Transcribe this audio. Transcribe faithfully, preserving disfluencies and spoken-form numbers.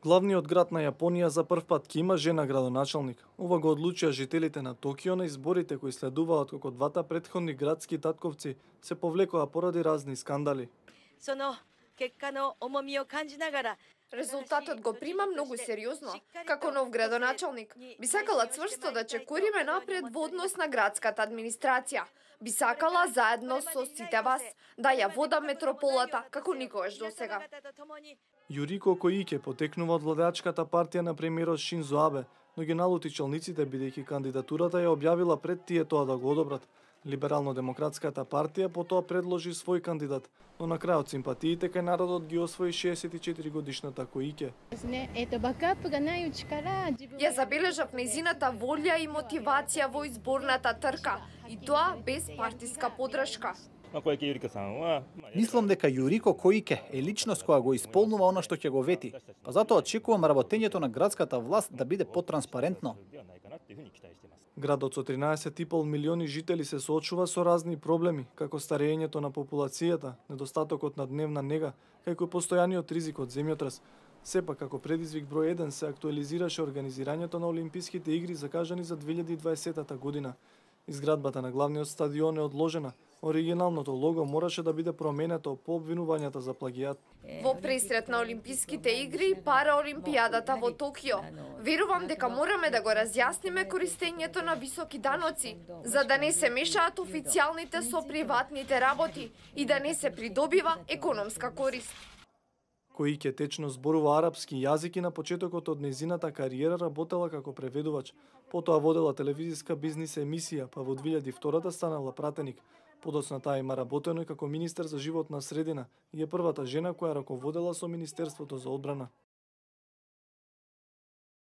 Главниот град на Јапонија за прв пат ќе има жена градоначалник. Ова го одлучија жителите на Токио на изборите кои следуваат како двата претходни градски татковци се повлекоа поради разни скандали. Резултатот го прима многу сериозно. Како нов градоначалник, би сакала цврсто да чекориме напред во однос на градската администрација. Би сакала заедно со сите вас да ја водам метрополата како никогаш досега. Јурико Коике потекнува од владеачката партија на премиерот Шинзо Абе, но ги налути челниците бидејќи кандидатурата ја објавила пред тие тоа да го одобрат. Либерално-демократската партија потоа предложи свој кандидат, но на крајот симпатиите кај народот ги освои шеесет и четири годишната Коике. Ја забележав нејзината волја и мотивација во изборната трка, и тоа без партиска поддршка. Мислам дека Јурико Коике е личност која го исполнува она што ќе го вети, па затоа очекувам работењето на градската власт да биде потранспарентно. Градот со тринаесет и пол милиони жители се соочува со разни проблеми, како старењето на популацијата, недостатокот на дневна нега, како и постојаниот ризик од земјотрес. Сепак, како предизвик број еден се актуализираше организирањето на Олимписките игри закажани за две илјади и дваесета година. Изградбата на главниот стадион е одложена. Оригиналното лого мораше да биде променето по обвинувањата за плагијат. Во пресрет на Олимписките игри и Параолимпијадата во Токио, верувам дека мораме да го разјасниме користењето на високи даноци, за да не се мешаат официјалните со приватните работи и да не се придобива економска корист. Коике течно зборува арапски јазик и на почетокот од нејзината кариера работела како преведувач. Потоа водела телевизиска бизнис емисија, па во две илјади и втора станала пратеник. Подоцна таа има работено и како министер за животна средина и е првата жена која раководела со Министерството за одбрана.